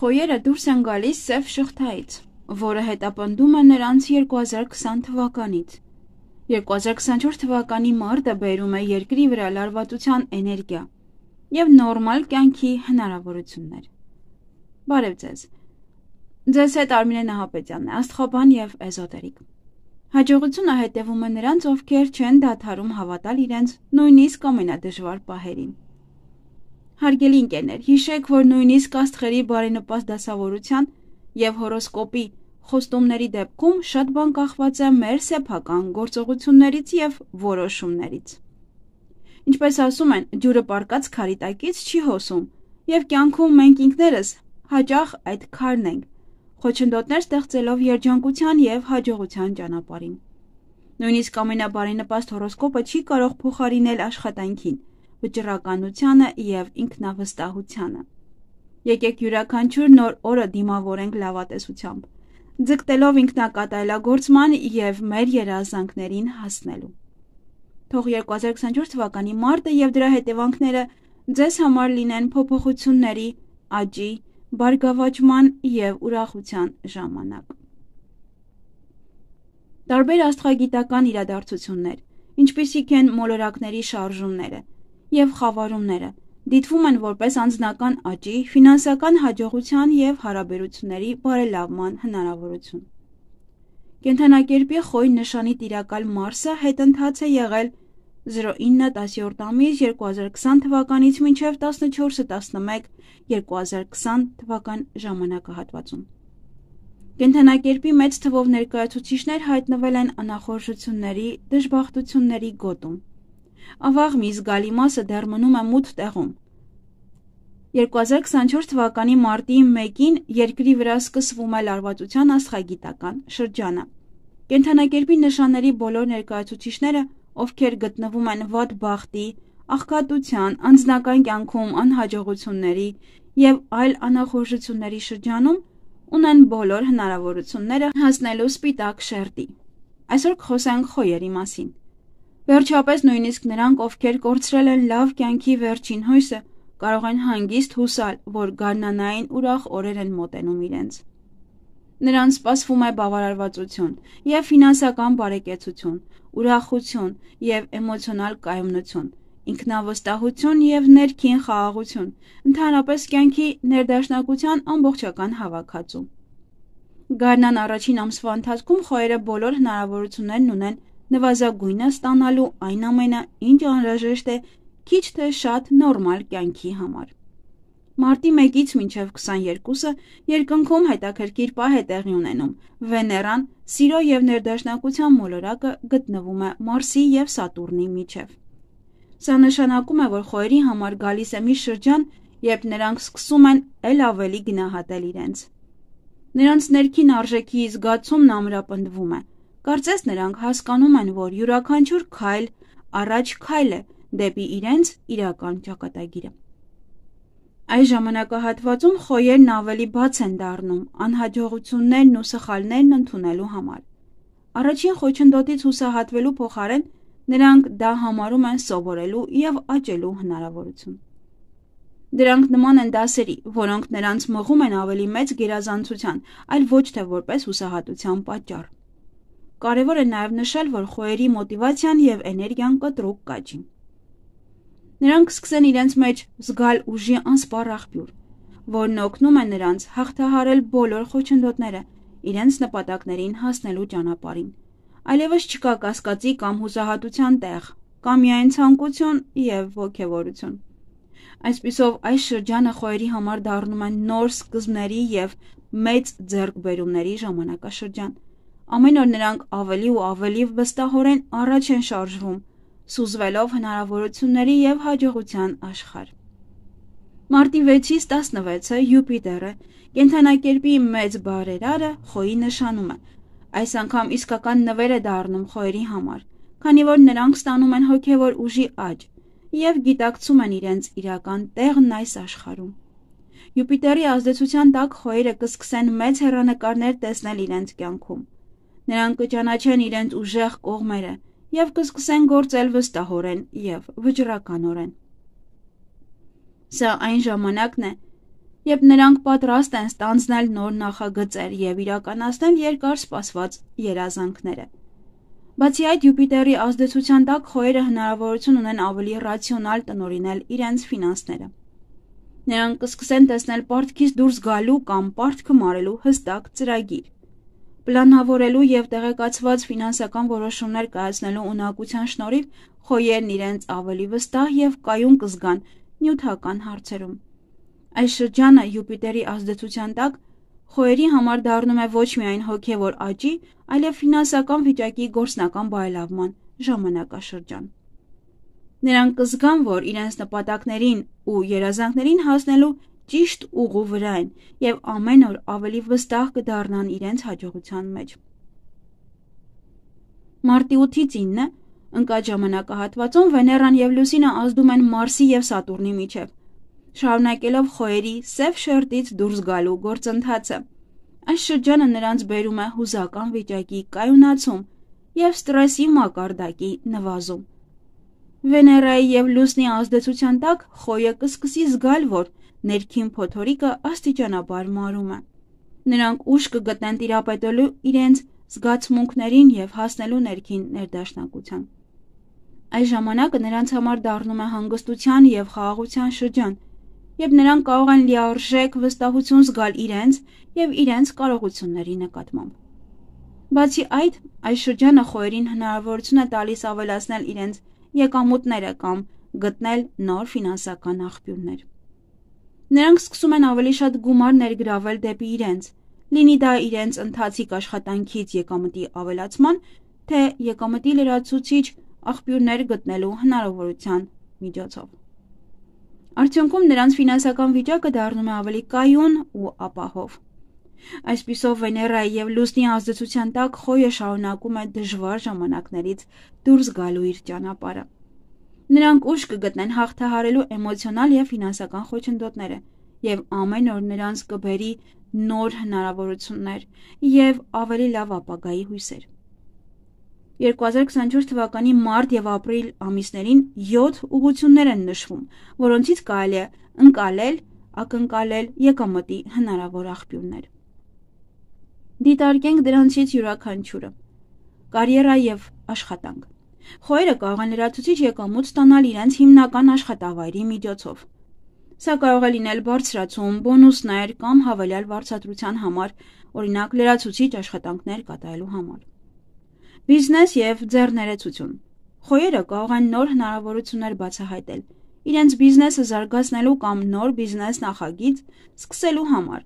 Խոյերը դուրս են գալիս սև շղթայից, որը հետապնդում է նրանց 2020 թվականից։ 2024 թվականի մարտը բերում է երկրի վրա լարվածության էներգիա և նորմալ կյանքի հնարավորություններ։ Բարև ձեզ։ Ձեզ հետ Արմինե Նահապետյանն է, աստղաբան և էզոտերիկ։ Հաջողությունը հետևում է նրանց, ովքեր չեն դադարում հավատալ իրենց նույնիսկ ամենադժվար պահերին։ Հարգելի ընկերներ, հիշեք, որ նույնիսկ աստղերի բարենպաստ դասավորության և հորոսկոպի խոստումների դեպքում շատ բան կախված է մեր սեփական գործողություններից և որոշումներից։ Ինչպես ասում են, ջուրը պառկած քարի տակից չի հոսում, և կյանքում մենք ինքներս հաճախ այդ քարն ենք, խոչընդոտներ ստեղծելով երջանկության և հաջողության ճանապարհին։ Նույնիսկ ամենաբարենպաստ հորոսկոպը չի կարող փոխարինել աշխատանքին, վճռականությանը և ինքնավստահությանը։ Եկեք յուրաքանչյուր նոր օրը դիմավորենք լավատեսությամբ, ձգտելով ինքնակատարելագործման և մեր երազանքներին հասնելու։ Թող 2024 թվականի մարտը և դրա հետևանքները ձեզ համար լինեն փոփոխությունների, աճի, բարգավաճման և ուրախության ժամանակ։ Տարբեր աստղագիտական իրադարձություններ, ինչպիսիք են մոլորակների շարժումները և խավարումները, դիտվում են որպես անձնական աճի, ֆինանսական հաջողության և հարաբերությունների բարելավման հնարավորություն։ Կենդանակերպի Խոյ նշանի տիրակալ Մարսը հետընթաց է եղել 09-10 ամիս 2020 թվականից մինչև 14-11-2020 թվական ժամանակահատվածում։ Կենդանակերպի մեծ թվով ներկայացուցիչներ հայտնվել են անախորժությունների, դժբախտությունների գոտում։ Ավաղ մի զգալի մասը դեռ մնում է մութ տեղում։ 2024 թվականի մարտի 1-ին երկրի վրա սկսվում է լարվածության աստղագիտական շրջանը։ Կենդանակերպի նշանների բոլոր ներկայացուցիչները, ովքեր գտնվում են վատ բախտի, աղքատության, անձնական կյանքում անհաջողությունների և այլ անախորժությունների շրջանում, ունեն բոլոր հնարավորությունները հասնելու սպիտակ շերտի։ Այսօր կխոսենք խոյերի մասին։ Վերջապես նույնիսկ նրանք, ովքեր կորցրել են լավ կյանքի վերջին հույսը, կարող են հանգիստ հուսալ, որ գարնանային ուրախ օրեր են մոտենում իրենց։ Նրանց սպասվում է բավարարվածություն և ֆինանսական բարեկեցություն, ուրախություն և էմոցիոնալ կայունություն, ինքնավստահություն և ներքին խաղաղություն, ընդհանրապես կյանքի ներդաշնակության ամբողջական հավաքածու։ Գարնան առաջին ամսվա ընթացքում խոյերը բոլոր հնարավորություններն ունեն նվազագույնը ստանալու այն ամենը, ինչ անհրաժեշտ է քիչ թե շատ նորմալ կյանքի համար։ Մարտի 1-ից մինչև 22-ը երկնքում հետաքրքիր պահ է տեղի ունենում։ Վեներան, սիրո և ներդաշնակության մոլորակը գտնվում է Մարսի և Սատուրնի միջև։ Սա նշանակում է, որ խոյերի համար գալիս է մի շրջան, երբ նրանք սկսում են էլ ավելի գնահատել իրենց։ Նրանց ներքին արժեքի զգացումն ամրապնդվում է։ Կարծես նրանք հասկանում են, որ յուրաքանչյուր քայլ առաջ քայլ է դեպի իրենց իրական ճակատագիրը։ Այս ժամանակահատվածում խոյերն ավելի բաց են դառնում անհաջողություններն ու սխալներն ընդունելու համար։ Առաջին խոչընդոտից հուսահատվելու փոխարեն նրանք դա համարում են սովորելու և աճելու հնարավորություն։ Դրանք նման են դասերի, որոնք նրանց մղում են ավելի մեծ գերազանցության, այլ ոչ թե որպես հուսահատության պատճառ։ Կարևոր է նաև նշել, որ խոյերի մոտիվացիան և էներգիան կտրուկ կաճի։ Նրանք սկսեն իրենց մեջ զգալ ուժի անսպառ աղբյուր, որն օգնում է նրանց հաղթահարել բոլոր խոչընդոտները իրենց նպատակներին հասնելու ճանապարհին։ Այլևս չկա կասկածի կամ հուսահատության տեղ, կա միայն ցանկություն և ոգևորություն։ Այսպիսով, այս շրջանը խոյերի համար դառնում է նոր սկզբների և մեծ ձեռքբերումների ժամանակաշրջան։ Ամեն օր նրանք ավելի ու ավելի վստահորեն առաջ են շարժվում, սուզվելով հնարավորությունների և հաջողության աշխարհ։ Մարտի 6-ից 16-ը Յուպիտերը, կենդանակերպի մեծ բարերարը, խոյի նշանում է։ Այս անգամ իսկական նվեր է դառնում խոյերի համար, քանի որ նրանք ստանում են հոգևոր ուժի աճ և գիտակցում են իրենց իրական տեղն այս աշխարհում։ Յուպիտերի ազդեցության տակ խոյերը կսկսեն մեծ հեռանկարներ տեսնել իրենց կյանքում։ Նրանք կճանաչեն իրենց ուժեղ կողմերը և կսկսեն գործել վստահորեն և վճռականորեն։ Սա այն ժամանակն է, երբ նրանք պատրաստ են ստանձնել նոր նախագծեր և իրականացնել երկար սպասված երազանքները։ Բացի այդ, Յուպիտերի ազդեցության տակ խոյերը հնարավորություն ունեն ավելի ռացիոնալ տնօրինել իրենց ֆինանսները։ Նրանք կսկսեն տեսնել պարտքից դուրս գալու կամ պարտքը մարելու հստակ ծրագիր։ Պլանավորելու և տեղեկացված ֆինանսական որոշումներ կայացնելու ունակության շնորհիվ խոյերն իրենց ավելի վստահ և կայուն կզգան նյութական հարցերում։ Այս շրջանը Յուպիտերի ազդեցության տակ խոյերի համար դառնում է ոչ միայն հոգևոր աճի, այլև ֆինանսական վիճակի գործնական բարելավման ժամանակաշրջան։ Նրանք կզգան, որ իրենց նպատակներին ու երազանքներին հասնելու ճիշտ ուղու վրա են և ամեն օր ավելի վստահ կդառնան իրենց հաջողության մեջ։ Մարտի 8-ից 9 ընկած ժամանակահատվածում Վեներան և Լուսինը ազդում են Մարսի և Սատուրնի միջև, շարունակելով խոյերի սև շերտից դուրս գալու գործընթացը։ Այս շրջանը նրանց բերում է հուզական վիճակի կայունացում և ստրեսի մակարդակի նվազում։ Վեներայի և Լուսնի ազդեցության տակ խոյը կսկսի զգալ, որ ներքին փոթորիկը աստիճանաբար մարում է։ Նրանք ուժ կգտնեն տիրապետելու իրենց զգացմունքներին և հասնելու ներքին ներդաշնակության։ Այս ժամանակը նրանց համար դառնում է հանգստության և խաղաղության շրջան, երբ նրանք կարող են լիարժեք վստահություն զգալ իրենց և իրենց կարողությունների նկատմամբ։ Բացի այդ, այս շրջանը խոյերին հնարավորություն է տալիս ավելացնել իրենց եկամուտները կամ գտնել նոր ֆինանսական աղբյուրներ։ Նրանք սկսում են ավելի շատ գումար ներգրավել դեպի իրենց, լինի դա իրենց ընթացիկ աշխատանքից եկամտի ավելացման, թե եկամտի լրացուցիչ աղբյուրներ գտնելու հնարավորության միջոցով։ Արդյունքում նրանց ֆինանսական վիճակը դառնում է ավելի կայուն ու ապահով։ Այսպիսով Վեներայի և Լուսնի ազդեցության տակ խոյը շարունակում է դժվար ժամանակներից դուրս գալու իր ճանապարհը։ Նրանք ուժ կգտնեն հաղթահարելու էմոցիոնալ և ֆինանսական խոչընդոտները, և ամեն օր նրանց կբերի նոր հնարավորություններ և ավելի լավ ապագայի հույսեր։ 2024 թվականի մարտ և ապրիլ ամիսներին 7 ուղղություններ են նշվում, որոնցից կարելի է ընկալել, ակնկալել եկամտի հնարավոր աղբյուրներ։ Դիտարկենք դրանցից յուրաքանչյուրը։ Կարիերա և աշխատանք։ Խոյերը կարող են լրացուցիչ եկամուտ ստանալ իրենց հիմնական աշխատավայրի միջոցով։ Սա կարող է լինել բարձրացում, բոնուսներ կամ հավելյալ վարձատրության համար, օրինակ լրացուցիչ աշխատանքներ կատարելու համար։ Բիզնես և ձեռներեցություն։ Խոյերը կարող են նոր հնարավորություններ բացահայտել իրենց բիզնեսը զարգացնելու կամ նոր բիզնես նախագիծ սկսելու համար,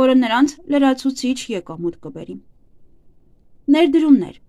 որը նրանց լրացուցիչ եկամուտ կբերի։ Ներդրումներ։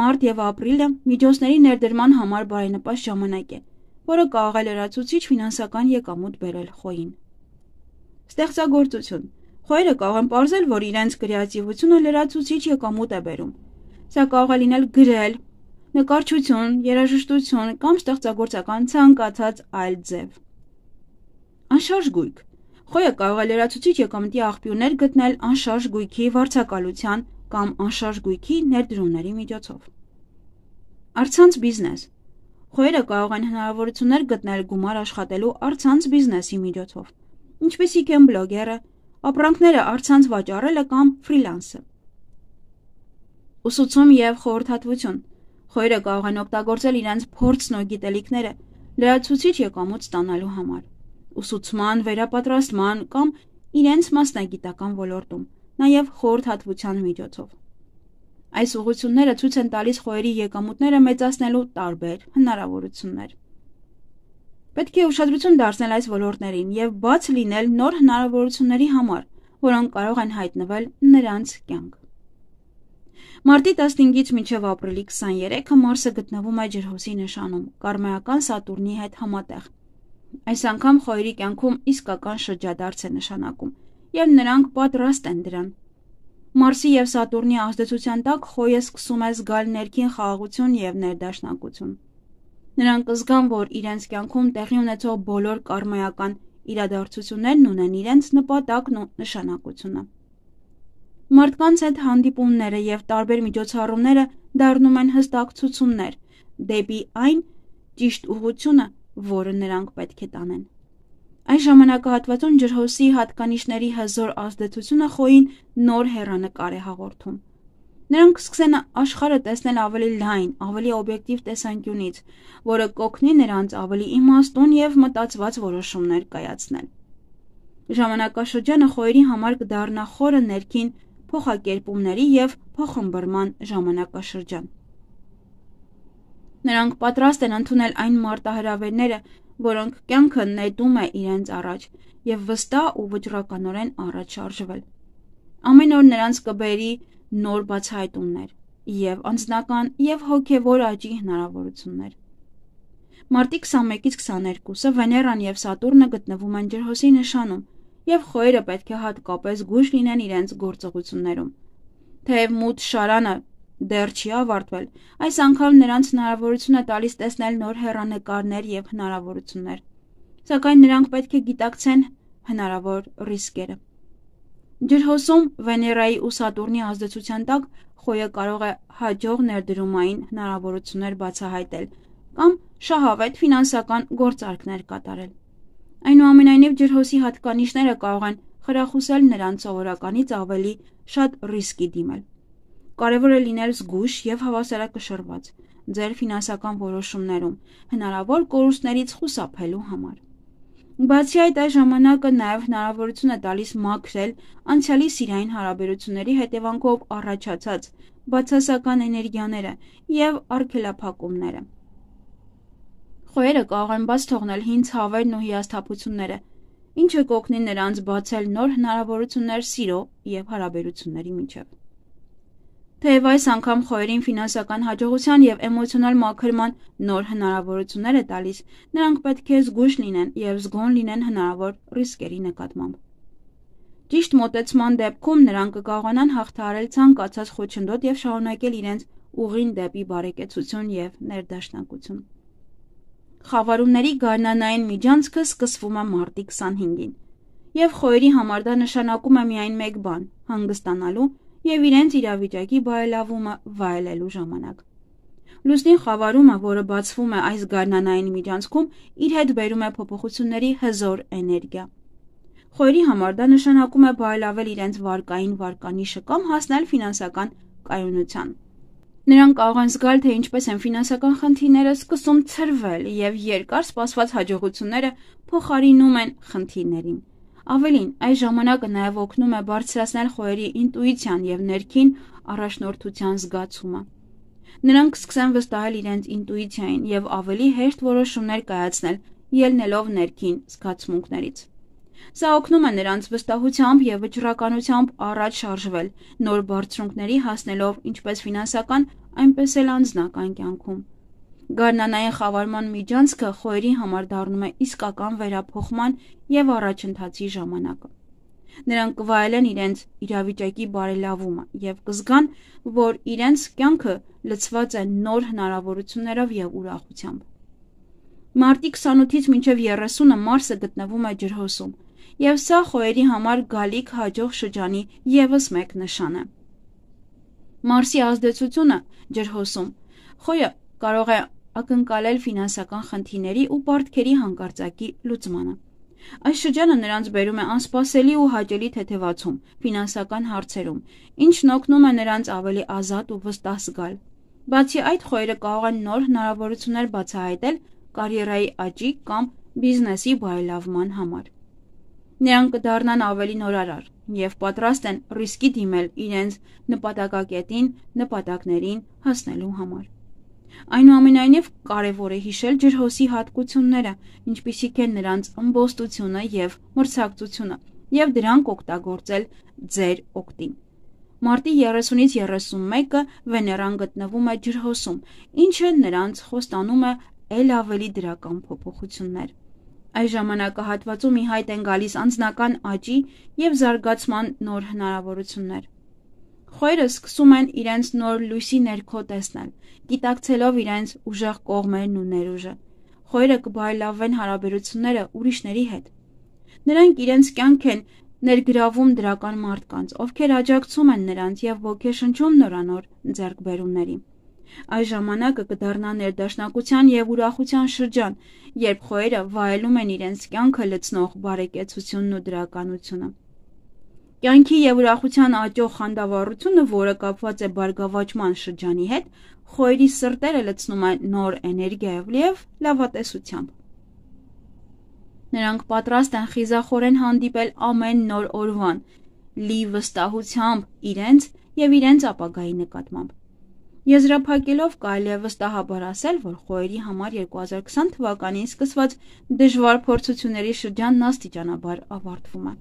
Մարտ և ապրիլը միջոցների ներդրման համար բարենպաստ ժամանակ է, որը կարող է լրացուցիչ ֆինանսական եկամուտ բերել խոյին։ Ստեղծագործություն։ Խոյերը կարող են պարզել, որ իրենց կրեատիվությունը լրացուցիչ եկամուտ է բերում։ Սա կարող է լինել գրել, նկարչություն, երաժշտություն կամ ստեղծագործական ցանկացած այլ ձև։ Անշարժ գույք։ Խոյը կարող է լրացուցիչ եկամտի աղբյուրներ գտնել անշարժ գույքի վարձակալության կամ անշարժ գույքի ներդրումների միջոցով։ Առցանց բիզնես։ Խոյերը կարող են հնարավորություններ գտնել գումար աշխատելու առցանց բիզնեսի միջոցով, ինչպիսիք են բլոգերը, ապրանքները առցանց վաճառելը կամ ֆրիլանսը։ Ուսուցում և խորհրդատվություն։ Խոյերը կարող են օգտագործել իրենց փորձն ու գիտելիքները լրացուցիչ եկամուտ ստանալու համար, ուսուցման, վերապատրաստման կամ իրենց մասնագիտական ոլորտում, նաև խորհրդատվության միջոցով։ Այս ուղղությունները ցույց են տալիս խոյերի եկամուտները մեծացնելու տարբեր հնարավորություններ։ Պետք է ուշադրություն դարձնել այս ոլորտներին և բաց լինել նոր հնարավորությունների համար, որոնք կարող են հայտնվել նրանց կյանք։ Մարտի 15-ից մինչև ապրիլի 23-ը Մարսը գտնվում է ջրհոսի նշանում, կարմայական Սատուրնի հետ համատեղ։ Այս անգամ խոյերի կյանքում իսկական շրջադարձ է նշանակում, և նրանք պատրաստ են դրան։ Մարսի և Սատուրնի ազդեցության տակ խոյը սկսում է զգալ ներքին խաղաղություն և ներդաշնակություն։ Նրանք կզգան, որ իրենց կյանքում տեղի ունեցող բոլոր կարմայական իրադարձություններն ունեն իրենց նպատակն ու նշանակությունը։ Մարդկանց հետ հանդիպումները և տարբեր միջոցառումները դառնում են հստակ ցուցումներ դեպի այն ճիշտ ուղղությունը, որը նրանք պետք է տանեն։ Այս ժամանակահատվածում ջրհոսի հատկանիշների հզոր ազդեցությունը Խոյին նոր հեռանկար է հաղորդում։ Նրանք սկսեն աշխարհը տեսնել ավելի լայն, ավելի օբյեկտիվ տեսանկյունից, որը կօգնի նրանց ավելի իմաստուն եւ մտածված որոշումներ կայացնել։ Ժամանակաշրջանը Խոյերի համար կդառնա խորը ներքին փոխակերպումների եւ փոխըմբռնման ժամանակաշրջան։ Նրանք պատրաստ են ընդունել այն մարտահրավերները, որոնք կյանքը նետում է իրենց առաջ եւ վստահ ու վճռականորեն առաջ շարժվել։ Ամեն օր նրանց կբերի նոր բացահայտումներ եւ անձնական եւ հոգեվոր աճի հնարավորություններ։ Մարտի 21-ից 22-ը Վեներան եւ Սատուրնը գտնվում են ջրհոսի նշանում եւ Խոյերը պետք է հատկապես զգույշ լինեն իրենց գործողություններում։ Թեև մութ շարանը դեռ չի ավարտվել, այս անգամ նրանց հնարավորություն է տալիս տեսնել նոր հեռանկարներ եւ հնարավորություններ, սակայն նրանք պետք է գիտակցեն հնարավոր ռիսկերը։ Ջրհոսում Վեներայի ու Սատուրնի ազդեցության տակ Խոյը կարող է հաջող ներդրումային հնարավորություններ բացահայտել կամ շահավետ ֆինանսական գործարքներ կատարել։ Այնուամենայնիվ ջրհոսի հատկանիշները կարող են խրախուսել նրանց սովորականից ավելի շատ ռիսկի դիմել։ Կարևոր է լինել զգույշ եւ հավասարակշռված ձեր ֆինանսական որոշումներում հնարավոր կորուստներից խուսափելու համար։ Բացի այդ, այս ժամանակը նաեւ հնարավորություն է տալիս մաքրել անցյալի սիրային հարաբերությունների հետևանքով առաջացած բացասական էներգիաները եւ արգելափակումները։ Խոյերը կարող են բաց թողնել հին ցավերն ու հիասթափությունները, ինչը կօգնի նրանց բացել նոր հնարավորություններ սիրո եւ հարաբերությունների միջեւ։ Թեև այս անգամ Խոյերին ֆինանսական հաջողության եւ էմոցիոնալ մաքրման նոր հնարավորություններ է տալիս, նրանք պետք է զգույշ լինեն եւ զգոն լինեն հնարավոր ռիսկերի նկատմամբ։ Ճիշտ մոտեցման դեպքում նրանք կկարողանան հաղթահարել ցանկացած խոչընդոտ եւ շարունակել իրենց ուղին դեպի բարեկեցություն եւ ներդաշնակություն։ Խավարումների գարնանային միջանցքը սկսվում է մարտի 25-ին, եւ Խոյերի համար դա նշանակում է միայն մեկ բան՝ հանգստանալու եւ իրենց իրավիճակի բարելավումը վայելելու ժամանակ։ Լուսնի խավարումը, որը բացվում է այս գարնանային միջանցքում, իր հետ բերում է փոփոխությունների հզոր էներգիա։ Խոյերի համար դա նշանակում է բարելավել իրենց վարկային վարկանիշը կամ հասնել ֆինանսական կայունության։ Նրանք կարող են զգալ, թե ինչպես են ֆինանսական խնդիրները սկսում ցրվել եւ երկար սպասված հաջողությունները փոխարինում են խնդիրներին։ Ավելին, այս ժամանակը նաև օգնում է բարձրացնել Խոյերի ինտուիցիան եւ ներքին առաջնորդության զգացումը։ Նրանք սկսեն վստահել իրենց ինտուիցիային եւ ավելի հեշտ որոշումներ կայացնել, ելնելով ներքին զգացմունքներից։ Սա օգնում է նրանց վստահությամբ եւ վճռականությամբ առաջ շարժվել, նոր բարձունքների հասնելով ինչպես ֆինանսական, այնպես էլ անձնական կյանքում։ Գարնանային խավարման միջանցքը Խոյերի համար դառնում է իսկական վերափոխման եւ առաջընթացի ժամանակը։ Նրանք կվայելեն իրենց իրավիճակի բարելավումը եւ կզգան, որ իրենց կյանքը լցված է նոր հնարավորություններով եւ ուրախությամբ։ Մարտի 28-ից մինչև 30-ը Մարսը գտնվում է ջրհոսում, եւ սա Խոյերի համար գալիք հաջող շրջանի եւս մեկ նշան է։ Մարսի ազդեցությունը ջրհոսում Խոյը կարող է ակնկալել ֆինանսական խնդիրների ու պարտքերի հանկարծակի լուծմանը։ Այս շրջանը նրանց բերում է անսպասելի ու հաճելի թեթևացում ֆինանսական հարցերում, ինչն օգնում է նրանց ավելի ազատ ու վստահ զգալ։ Բացի այդ, Խոյերը կարող են նոր հնարավորություններ բացահայտել կարիերայի աճի կամ բիզնեսի բարելավման համար։ Նրանք կդառնան ավելի նորարար եւ պատրաստ են ռիսկի դիմել իրենց նպատակներին հասնելու համար։ Այնուամենայնիվ, կարևոր է հիշել ջրհոսի հատկությունները, ինչպիսիք են նրանց ըմբոստությունը եւ մրցակցությունը, եւ դրանք օգտագործել ձեր օգտին։ Մարտի 30-ից 31-ը Վեներան գտնվում է ջրհոսում, ինչը նրանց խոստանում է ել ավելի դրական փոփոխություններ։ Այս ժամանակահատվածում ի հայտ են գալիս անձնական աճի եւ զարգացման նոր հնարավորություններ։ Խոյերը սկսում են իրենց նոր լույսի ներքո տեսնել, գիտակցելով իրենց ուժեղ կողմերն ու ներուժը։ Խոյերը կբարելավեն հարաբերությունները ուրիշների հետ։ Նրանք իրենց կյանք են ներգրավում դրական մարդկանց, ովքեր աջակցում են նրանց եւ ոգեշնչում նորանոր ձեռքբերումների։ Այս ժամանակը կդառնա ներդաշնակության և ուրախության շրջան, երբ խոյերը վայելում են իրենց կյանքը լցնող բարեկեցությունն ու դրականությունը։ Կյանքի և ուրախության աճող խանդավառությունը, որը կապված է բարգավաճման շրջանի հետ, խոյերի սրտերը լցնում է նոր էներգիայով և լավատեսությամբ։ Նրանք պատրաստ են խիզախորեն հանդիպել ամեն նոր օրվան, լի վստահությամբ իրենց և իրենց ապագայի նկատմամբ։ Եզրափակելով կարելի է վստահաբար ասել, որ խոյերի համար 2020 թվականին սկսված դժվար փորձությունների շրջանն աստիճանաբար ավարտվում է։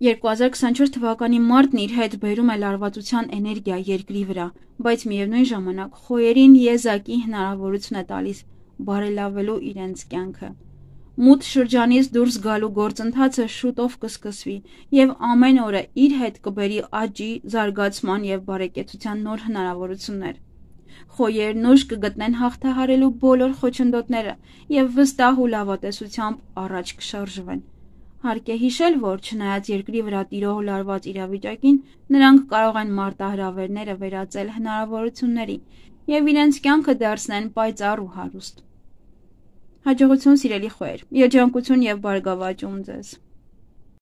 2024 թվականի մարտն իր հետ բերում է լարվածության էներգիա երկրի վրա, բայց միևնույն ժամանակ խոյերին եզակի հնարավորություն է տալիս բարելավելու իրենց կյանքը։ Մութ շրջանից դուրս գալու գործընթացը շուտով կսկսվի և ամեն օրը իր հետ կբերի աճի, զարգացման և բարեկեցության նոր հնարավորություններ։ Խոյերն ուժ կգտնեն հաղթահարելու բոլոր խոչընդոտները և վստահ ու լավատեսությամբ առաջ կշարժվեն։ Հարկ է հիշել, որ չնայած երկրի վրա տիրող լարված իրավիճակին, նրանք կարող են մարտահրավերները վերածել հնարավորությունների և իրենց կյանքը դարձնեն պայծառ ու հարուստ։ Հաջողություն, սիրելի խոյեր, երջանկություն և բարգավաճում ձեզ։